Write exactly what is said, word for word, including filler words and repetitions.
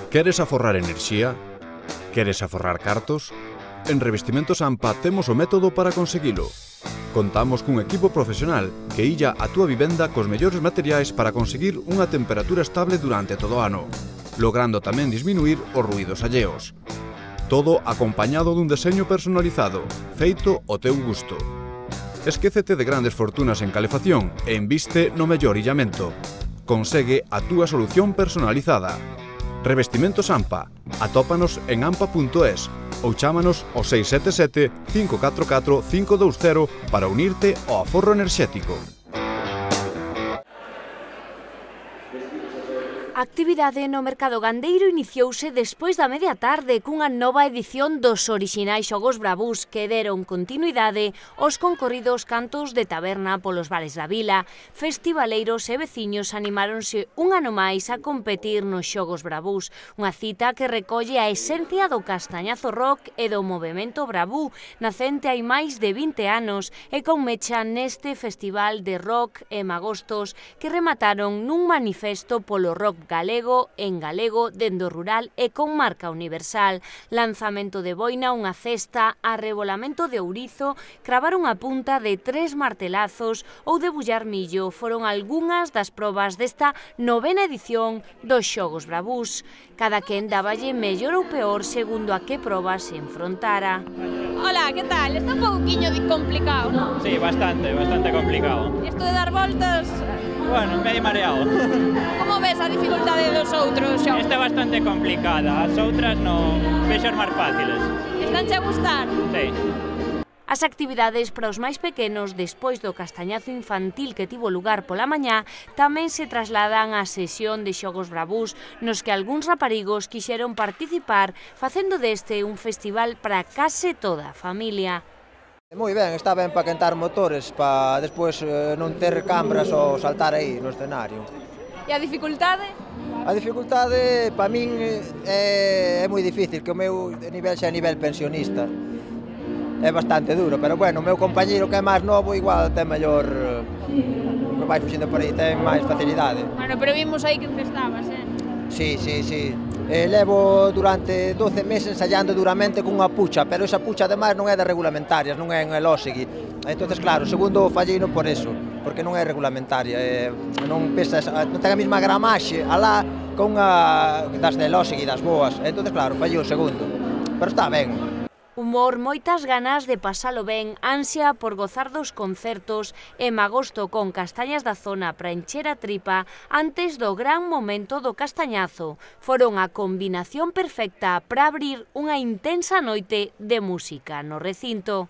Queres aforrar enerxía? Queres aforrar cartos? En Revestimentos AMPA temos o método para conseguilo. Contamos cun equipo profesional que illa a túa vivenda cos mellores materiais para conseguir unha temperatura estable durante todo o ano, logrando tamén disminuir os ruídos alleos. Todo acompañado dun deseño personalizado, feito ao teu gusto. Esquécete de grandes fortunas en calefacción e inviste no mellor illamento. Consegue a túa solución personalizada. Revestimentos AMPA. Atópanos en ampa punto es ou chámanos ao seis sete sete, cinco catro catro, cinco dous cero para unirte ao aforro enerxético. A actividade no mercado gandeiro iniciouse despois da media tarde cunha nova edición dos orixinais xogos bravús que deron continuidade aos concorridos cantos de taberna polos bares da vila. Festivaleiros e veciños animáronse un ano máis a competir nos xogos bravús, unha cita que recolle a esencia do castañazo rock e do movemento bravú, nacente hai máis de vinte anos e con mecha neste festival de rock e magostos que remataron nun manifesto polo rock galego en galego dende o rural e con marca universal. Lanzamento de boina, unha cesta, arrebolamento de ourizo, cravar unha punta de tres martelazos ou debullar millo foron algunhas das probas desta novena edición dos Xogos Bravús. Cada quen dáballe mellor ou peor segundo a que proba se enfrontara. Hola, que tal? Está un pouquiño complicado, non? Sí, bastante, bastante complicado. Isto de dar voltas... Bueno, medio mareado. Como ves a dificultade dos outros xogos? Esta é bastante complicada, as outras non vexo máis fáciles. Estánche a gustar? Sí. As actividades para os máis pequenos despois do castañazo infantil que tivo lugar pola mañá tamén se trasladan á sesión de xogos bravús nos que algúns raparigos quixeron participar facendo deste un festival para case toda a familia. Moi ben, está ben para quentar motores, para despois eh, non ter cambras ou saltar aí no escenario. E a dificultade? A dificultade, para min, é, é moi difícil, que o meu nivel xa é nivel pensionista. É bastante duro, pero bueno, o meu compañeiro que é máis novo igual ten mellor, que vai fuxindo por aí, ten máis facilidade. Bueno, pero vimos aí que estabas, eh? Sí, sí, sí. Eh, levo durante doce meses ensayando duramente cunha pucha, pero esa pucha ademais non é de regulamentarias, non é en elósegui. Entonces, claro, segundo falleino por eso, porque non é regulamentaria, eh, non pesa, non ten a mesma gramaxe alá con a das de elósegui, das boas. Entonces, claro, fallei o segundo, pero está ben. Humor, moitas ganas de pasalo ben, ansia por gozar dos concertos e magosto con castañas da zona para encher a tripa antes do gran momento do castañazo. Foron a combinación perfecta para abrir unha intensa noite de música no recinto.